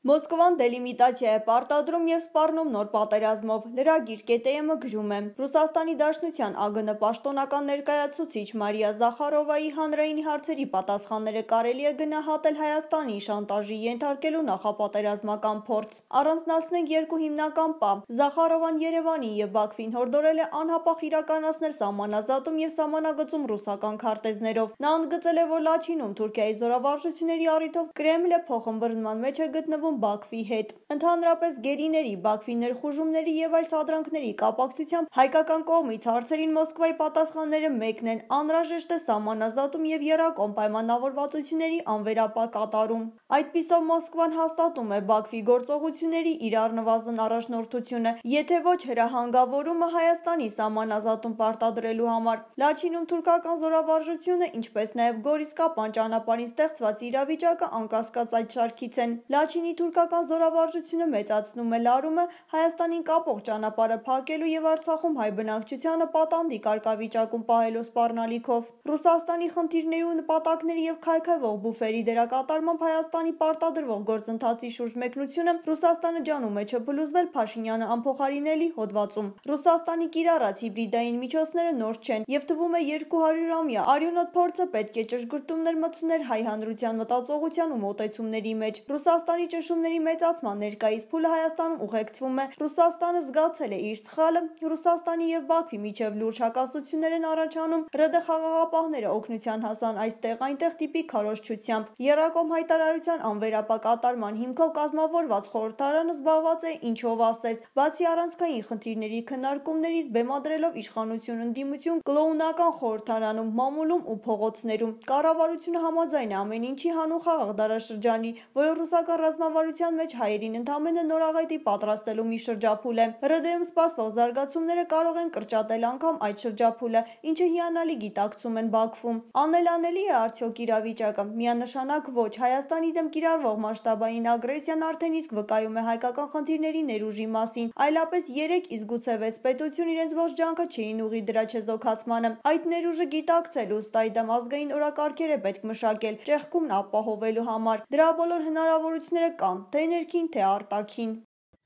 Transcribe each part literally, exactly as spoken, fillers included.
Մոսկվան դելիմիտացիա է պարտադրում և սպառնում նոր պատերազմով, լրագիր ԿՏՄ գրում է. Ռուսաստանի Դաշնության ԱԳՆ պաշտոնական ներկայացուցիչ Մարիա Զախարովայի հանրային հարցերի պատասխանները կարելի է գնահատել Հայաստանին շանտաժի ենթարկելու նախապատերազմական փորձ։ Առանձնացնենք երկու հիմնական պահ։ Զախարովան Երևանին և Բաքվին հորդորել է անհապաղ իրականացնել սահմանազատում և սահմանագծում ռուսական քարտեզներով։ Նա ընդգծել է, որ Լաչինում Թուրքիայի զորավարժությունների առիթով Կրեմլը փոխըմբռնման մեջ է գտնվում Բաքվի հետ։ Ընդհանրապես գերիների, Բաքվի ներխուժումների և այլ սադրանքների կապակցությամբ հայկական կողմից հարցերին Մոսկվայի պատասխանները մեկն են՝ անհրաժեշտ է սահմանազատում և եռակողմ պայմանավորվածությունների անվերապահ կատարում։ Այդպիսով Մոսկվան հաստատում է Բաքվի գործողությունների իր առնվազն առաջնորդությունը, եթե ոչ հրահանգավորումը Հայաստանի սահմանազատում պարտադրելու համար։ Լաչինում թուրքական զորավարժությունը, ինչպես նաև Գորիսկապան ճանապարհին ստեղծված իրավիճակը անկասկած այդ շարքից են։ Լաչինի թուրքական զորավարժությունը մեծացնում է լարումը Հայաստանին կապող ճանապարհը փակելու և Արցախում հայ բնակչությանը պատանդի կարգավիճակում պահելու սպառնալիքով։ Ռուսաստանի խնդիրների ու նպատակների և քայքայվող բուֆերի դերակատարմամբ Հայաստանի պարտադրվող գործընթացի շուրջ մեկնությունը Ռուսաստանը ջանում է չփլուզվել Փաշինյանը անփոխարինելի հոդվածում։ Ռուսաստանի կիրառած հիբրիդային միջոցները նոր չեն, և թվում է երկու հարյուրամյա արյունոտ փորձը պետք է ճշգրտումներ մտցներ հայ հանրության մտածողության ու մոտեցումների մեջ։ Ռուսաստանի ճնշումների մեծացման ներկայիս փուլը Հայաստանում ուղեկցվում է։ Ռուսաստանը զգացել է իր սխալը, Ռուսաստանի և Բաքվի միջև լուրջ հակասություններ են առաջանում, ՌԴ խաղաղապահները օգնության հասան այստեղ-այնտեղ տիպի քարոզչությամբ։ Եռակողմ հայտարարության անվերապահ կատարման հիմքով կազմավորված խորհրդարանը զբաղված է ինչով ասես, բացի առանցքային խնդիրների քննարկումներից, բեմադրելով իշխանություն ընդդիմություն կլոունական խորհրդարանում, մամուլում ու փողոցներում։ Կառավարությունը համաձայն է ամեն ինչի հանուն խաղաղ դարաշրջանի, որը ռուսական ռազմավարության մեջ հայերին ընդամենը նորաղետի պատրաստելու մի շրջափուլ է։ ՌԴ-ում սպասվող զարգացումները կարող են կրճատել անգամ այդ շրջափուլը, ինչը հիանալի գիտակցում են Բաքվում։ Անելանելի է արդյոք իրավիճակը։ Միանշանակ ոչ։ Հայաստանի դեմ կիրառվող մասշտաբային ագրեսիան արդեն իսկ վկայում է հայկական խնդիրների ներուժի մասին, այլապես երեք, իսկ գուցե վեց պետություն իրենց ողջ ջանքը չէին ուղղի դրա չեզոքացմանը։ Այդ ներուժը գիտակցելու, ըստ այդմ ազգային օրակարգեր է պետք մշակել ճեղքումն ապահովելու համար։ Դրա բոլոր հնարավորությունները կան, թե ներքին, թե արտաքին։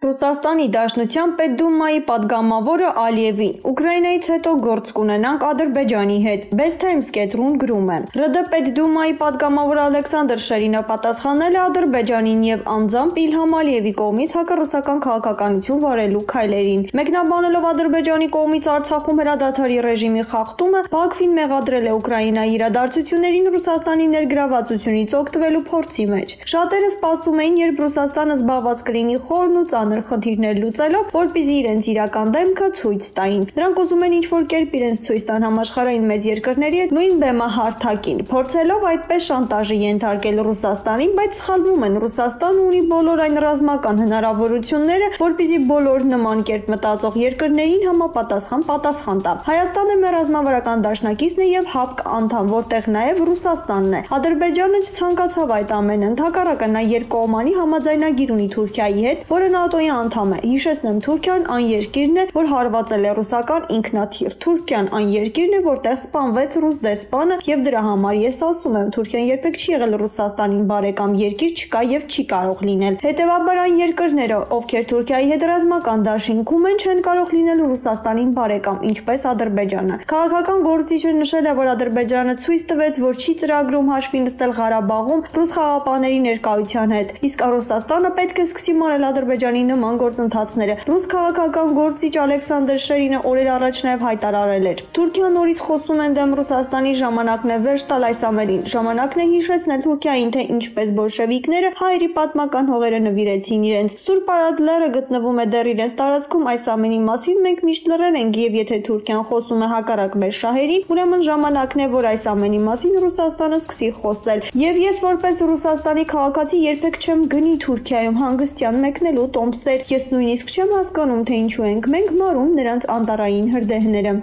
Ռուսաստանի Դաշնության Պետդումայի պատգամավորը Ալիևին. Ուկրաինայից հետո գործ կունենանք Ադրբեջանի հետ։ Best Times կետրուն գրում է. ՌԴ Պետդումայի պատգամավոր Ալեքսանդր Շերինը պատասխանել է Ադրբեջանին և անձամբ Իլհամ Ալիևի կողմից հակառուսական քաղաքականություն վարելու քայլերին։ Մեկնաբանելով Ադրբեջանի կողմից Արցախում հրադադարի ռեժիմի խախտումը, Բաքվին մեղադրել է Ուկրաինայի իրադարձություններին Ռուսաստանի ներգրավվածությունից օգտվելու փորձի մեջ։ Շատերը սպասում էին, երբ Ռուսաստանը զբաղված կլինի խորն ու ծանր խնդիրներ լուծելով, որպեսզի իրենց իրական դեմքը ցույց տային։ Նրանք ուզում են ինչ-որ կերպ իրենց ցույց տան համաշխարհային մեծ երկրների հետ նույն բեմահարթակին, փորձելով այդպես շանտաժի ենթարկել Ռուսաստանին, բայց սխալվում են։ Ռուսաստանը ունի բոլոր այն ռազմական հնարավորությունները, որպեսզի բոլոր նման կերպ մտածող երկրներին համապատասխան պատասխան տա։ Հայաստանը մեր ռազմավարական դաշնակիցն է և ՀԱՊԿ անդամ, որտեղ նաև Ռուսաստանն է։ Ադրբեջանը չցանկացավ այդ ամենը, ընդհակառակը նա երկկողմանի համաձայնագիր ունի Թուրքիայի հետ, որը ՆԱՏՕ-ի անդամ է։ Հիշեցնեմ, Թուրքիան այն երկիրն է, որ հարվածել է ռուսական ինքնաթիռ։ Թուրքիան այն երկիրն է, որտեղ սպանվեց ռուս դեսպանը, և դրա համար ես ասում եմ, Թուրքիան երբեք չի եղել Ռուսաստանին բարեկամ երկիր, չկա և չի կարող լինել։ Հետևաբար այն երկրները, ովքեր Թուրքիայի հետ ռազմական դաշինքում են, չեն կարող լինել Ռուսաստանին բարեկամ, ինչպես Ադրբեջանը։ Քաղաքական գործիչը նշել է, որ Ադրբեջանը ցույց տվեց, որ չի ծրագրում հաշվի նստել Ղարաբաղում ռուս խաղաղապահների ներկայության հետ, իսկ Ռուսաստանը պետք է սկսի մարել Ադրբեջանի նման գործընթացները։ Ռուս քաղաքական գործիչ Ալեքսանդր Շերինը օրեր առաջ նաև հայտարարել էր. Թուրքիան նորից խոսում են դեմ Ռուսաստանի, ժամանակն է վերջ տալ այս ամենին։ Ժամանակն է հիշեցնել Թուրքիային, թե ինչպես բոլշևիկները հայերի պատմական հողերը նվիրեցին իրենց։ Սուրբ Արադ լեռը գտնվում է դեռ իրենց տարածքում, այս ամենի մասին մենք միշտ լռել ենք, և եթե Թուրքիան խոսում է հակառակ մեր շահերին, ուրեմն ժամանակն է, որ այս ամենի մասին Ռուսաստանը սկսի խոսել։ Եվ ես որպես Ռուսաստանի քաղաքացի երբեք չեմ գնի Թուրքիայում հանգստյան մեկնելու տոմսեր, ես նույնիսկ չեմ հասկանում, թե ինչու ենք մենք մարում նրանց անտառային հրդեհները։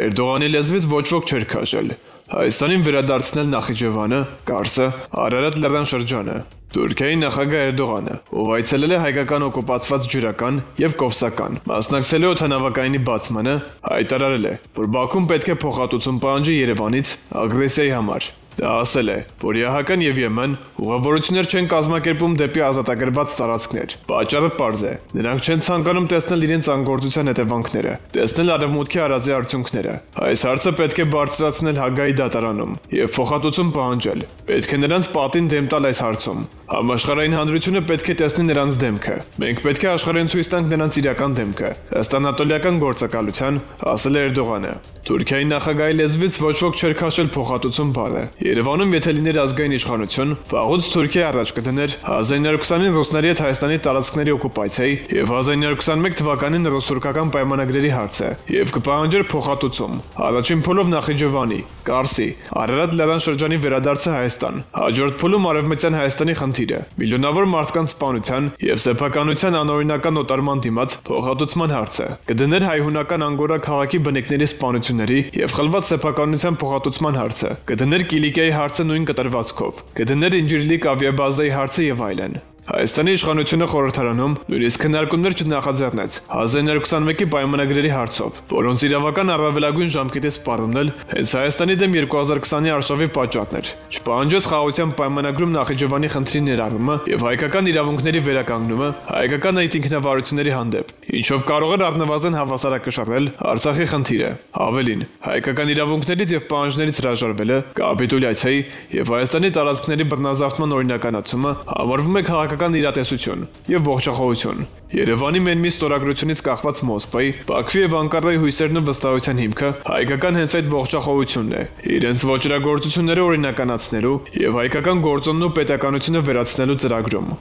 Էրդողանի լեզվից ոչ ոք չէր քաշել։ Հայաստանին վերադարձնել Նախիջևանը, Կարսը, Արարատ լեռան շրջանը։ Թուրքիայի նախագահ Էրդողանը, ով այցելել է հայկական օկուպացված ջրական և կովսական, մասնակցել է օդանավակայանի բացմանը, հայտարարել է, որ Բաքուն պետք է փոխհատուցում պահանջի Երևանից ագրեսիայի համար։ Դա ասել է, որ ԵԱՀԿ-ն եւ ԵՄ-ն ուղղավորություններ չեն կազմակերպում դեպի ազատագրված տարածքներ։ Պատճառը պարզ է. նրանք չեն ցանկանում տեսնել իրենց անգործության հետևանքները, տեսնել արևմուտքի արածի արդյունքները։ Այս հարցը պետք է բարձրացնել Հագայի դատարանում եւ փոխհատուցում պահանջել։ Պետք է նրանց պատին դեմ տալ այս հարցում։ Համաշխարհային հանրությունը պետք է տեսնի նրանց դեմքը։ Մենք պետք է աշխարհին ցույց տանք նրանց իրական դեմքը։ Ըստ անատոլիական գործակալության, ասել է Էրդողանը։ Թուրքիայի նախագահի լեզվից ոչ ոք չէր քաշել փոխհատուցում բառը։ Երևանում եթե լիներ ազգային իշխանություն, վաղուց Թուրքիա առաջ կդներ հազար ինը հարյուր քսանին ռուսների հետ Հայաստանի տարածքների օկուպացիայի եւ հազար ինը հարյուր քսանմեկ թվականին ռուս-թուրքական պայմանագրերի հարցը եւ կպահանջեր փոխհատուցում։ Առաջին փուլով Նախիջևանի, Կարսի, Արարատ լեռան շրջանի վերադարձը Հայաստան, հաջորդ փուլում Արևմտյան Հայաստանի խնդիրը, միլիոնավոր մարդկանց սպանության եւ սեփականության անօրինական օտարման դիմաց փոխհատուցման հարցը, կդներ հայ-հունական Անգորա քաղաքի բնակիչների սպանությունների եւ խլված սեփականության փոխհատուցման հարցը, կդներ Կիլիկիայի հարցը նույն կտրվածքով, կդներ Ինջիրլիկ ավիաբազայի հարցը եւ այլն։ Հայաստանի իշխանությունը խորհրդարանում նույնիսկ քննարկումներ չնախաձեռնեց հազար ինը հարյուր քսանմեկի պայմանագրերի հարցով, որոնց իրավական առավելագույն ժամկետի սպառումն էլ հենց Հայաստանի դեմ երկու հազար քսանի արշավի պատճառն էր։ Չպահանջեց խաղաղության պայմանագրում Նախիջևանի խնդրի ներառումը եւ հայկական իրավունքների վերականգնումը հայկական այդ ինքնավարությունների հանդեպ, ինչով կարող էր առնվազն հավասարակշռել Արցախի խնդիրը։ Ավելին, հայկական իրավունքներից եւ պահանջներից հրաժարվելը, կապիտուլյացիայի եւ Հայաստանի տարածքների բռնազավթման օրինականացումը համարվում է քաղաքական իրատեսություն եւ ողջախոհություն։ Երևանի մենմի ստորագրությունից կախված Մոսկվայի, Բաքվի եւ Անկարայի հույսերն ու վստահության հիմքը հայկական հենց այդ ողջախոհությունն է, իրենց ոչրագործությունները օրինականացնելու եւ հայկական գործոնն ու պետականությունը վերացնելու ծրագրում։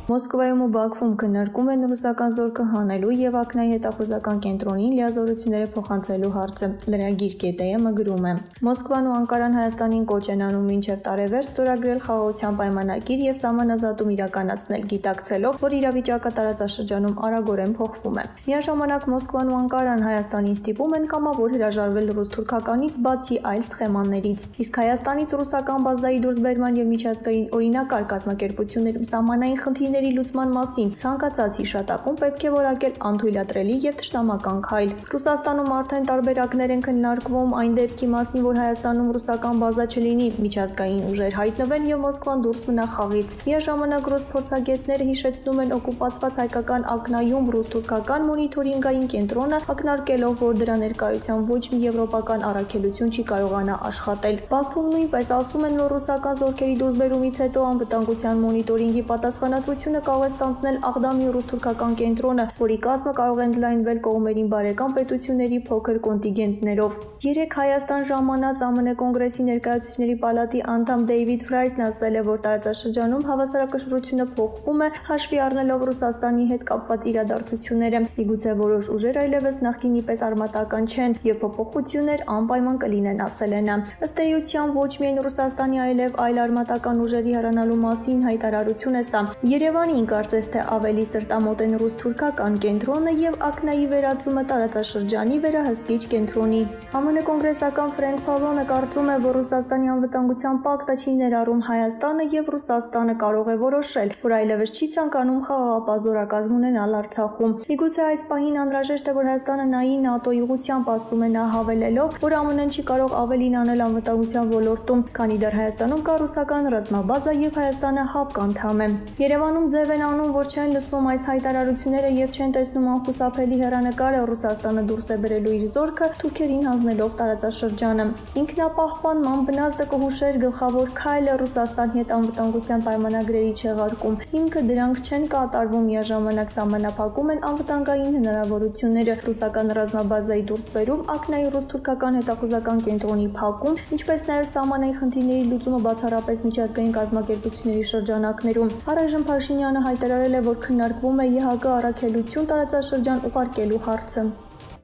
Մոսկվայում ու Բաքվում քննարկում են ռուսական զորքը հանելու եւ Ակնայի հետախուզական կենտրոնին լիազորությունները փոխանցելու հարցը։ Լրագիր ԿՏՄ գրում է. Մոսկվան ու Անկարան Հայաստանին կոչ են անում մինչև տարեվերջ ստորագրել խաղաղության պայմանագիր եւ սահմանազատում իրականացնել, գիտակցելով, որ իրավիճակը տարածաշրջանում արագորեն փոխվում է։ Միաժամանակ Մոսկվան ու Անկարան Հայաստանին ստիպում են կամավոր հրաժարվել ռուս-թուրքականից բացի այլ սխեմաններից։ Իսկ Հայաստանից ռուսական բազայի դուրսբերման եւ միջազգային օրինակարգ կազմակերպություններում սահմանային խնդիրներ լուծման մասին ցանկացած հիշատակում պետք է որակել անթույլատրելի եւ թշնամական քայլ։ Ռուսաստանում արդեն տարբերակներ են քննարկվում այն դեպքի մասին, որ Հայաստանում ռուսական բազա չլինի, միջազգային ուժեր հայտնվեն եւ Մոսկվան դուրս մնա խաղից։ Միաժամանակ ռուս փորձագետները հիշեցնում են օկուպացված հայկական Ակնայում ռուս-թուրքական մոնիթորինգային կենտրոնը, ակնարկելով, որ դրա ներկայությամբ ոչ մի եվրոպական առաքելություն չի կարողանա աշխատել։ Բաքվում նույնպես ասում են, որ ռուսական զորքերի դուրսբերումից հետո անվտանգության մոնիտորինգի պատասխանատվությունը կարող է ստանձնել Աղդամի ռուս-թուրքական կենտրոնը, որի կազմը կարող է ընդլայնվել կողմերին բարեկամ պետությունների փոքր կոնտինգենտներով։ Երեկ Հայաստան ժամանած ԱՄՆ կոնգրեսի ներկայացուցիչների պալատի անդամ Դեյվիդ Ֆրայսն ասել է, որ տարածաշրջանում հավասարակշռությունը փոխվում է, հաշվի առնելով Ռուսաստանի հետ կապված իրադարձությունները։ Միգուցե որոշ ուժեր այլևս նախկինի պես արմատական չեն եւ փոփոխություններ անպայման կլինեն, ասել է նա։ Ըստ էության ոչ միայն Ռուսաստանի, այլև այլ արմատական ուժերի հեռանալու մասին հայտարարություն է սա։ Երևանին կարծես թե ավելի սրտամոտ են ռուս-թուրքական կենտրոնը եւ Ակնայի վերածումը տարածաշրջանի վերահսկիչ կենտրոնի։ ԱՄՆ կոնգրեսական Ֆրենկ Փավլոնը կարծում է, որ Ռուսաստանի անվտանգության պակտը չի ներառում Հայաստանը եւ Ռուսաստանը կարող է որոշել, որ այլևս չի ցանկանում խաղաղապահ զորակազմ ունենալ Արցախում։ Միգուցե այս պահին անհրաժեշտ է, որ Հայաստանը նայի ՆԱՏՕ-ի ուղղությամբ, ասում է նա, հավելելով, որ ԱՄՆ-ն չի կարող ավելին անել անվտանգության ոլորտում, քանի դեռ Հայաստանում կա ռուսական ռազմաբազա եւ Հայաստանը ՀԱՊԿ անդամ է։ Երևանում ձև են անում, որ չեն լսում այս հայտարարությունները եւ չեն տեսնում անխուսափելի հեռանկարը Ռուսաստանը դուրս է բերելու իր զորքը թուրքերին հանձնելով տարածաշրջանը։ Ինքնապահպանման բնազդը կհուշեր գլխավոր քայլը Ռուսաստանի հետ անվտանգության պայմանագրերի չեղարկում։ Հիմքը դրանք չեն կատարվում, միաժամանակ սահմանափակում են անվտանգային հնարավորությունները, ռուսական ռազմաբազայի դուրսբերում, Ակնայի ռուս-թուրքական հետախուզական կենտրոնի փակում, ինչպես նաեւ սահմանային խնդիրների լուծումը բացառապես միջազգային կազմակերպությունների շրջանակներում։ Առայժմ Փաշինյանը հայտարարել է, որ քննարկվում է ԵԱՀԿ առաքելություն տարածաշրջան ուղարկելու հարցը։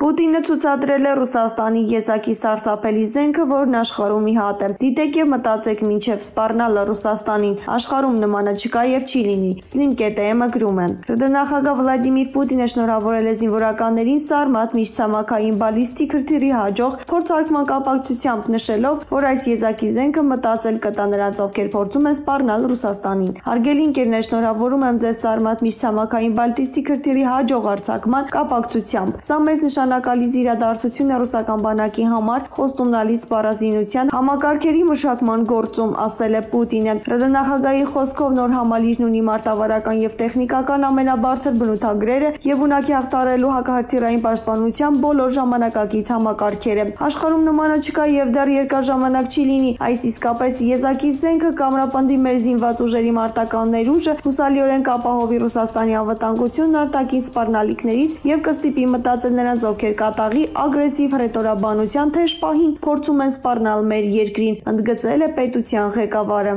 Պուտինը ցուցադրել է Ռուսաստանի եզակի սարսափելի զենքը, որն աշխարհում ի հատ է։ Դիտեք եւ մտածեք մինչեւ սպառնալը Ռուսաստանին։ Աշխարհում նմանը չկա եւ չի լինի։ Slim ԿՏՄ գրում է. Նախագահ Վլադիմիր Պուտինը շնորհավորել է զինվորականներին Սարմատ միջցամաքային բալիստիկ հրթիռի հաջող փորձարկման կապակցությամբ, նշելով, որ այս եզակի զենքը մտածել կտա նրանց, ովքեր փորձում են սպառնալ Ռուսաստանին։ Հարգելի ընկերներ, շնորհավորում եմ ձեզ Սարմատ միջցամաքային բալիստիկ հրթիռի հաջող արձակման կապակցությամբ։ Սա մեծ նշան նշանակալից իրադարձություն է ռուսական բանակի համար խոստումնալից սպառազինության համակարգերի մշակման գործում, ասել է Պուտինը։ ՌԴ նախագահի խոսքով նոր համալիրն ունի մարտավարական եւ տեխնիկական ամենաբարձր բնութագրերը եւ ունակ է հաղթահարելու հակահրթիռային պաշտպանության բոլոր ժամանակակից համակարգերը։ Աշխարհում նմանը չկա եւ դեռ երկար ժամանակ չի լինի, այս իսկապես եզակի զենքը կամրապնդի մեր զինված ուժերի մարտական ներուժը, հուսալիորեն կապահովի Ռուսաստանի անվտանգությունն արտաքին սպառնալիքներից եւ կստիպի մտածել նրանց, ովքեր կատաղի ագրեսիվ հռետորաբանության թեժ պահին փորձում են սպառնալ մեր երկրին, ընդգծել է պետության ղեկավարը։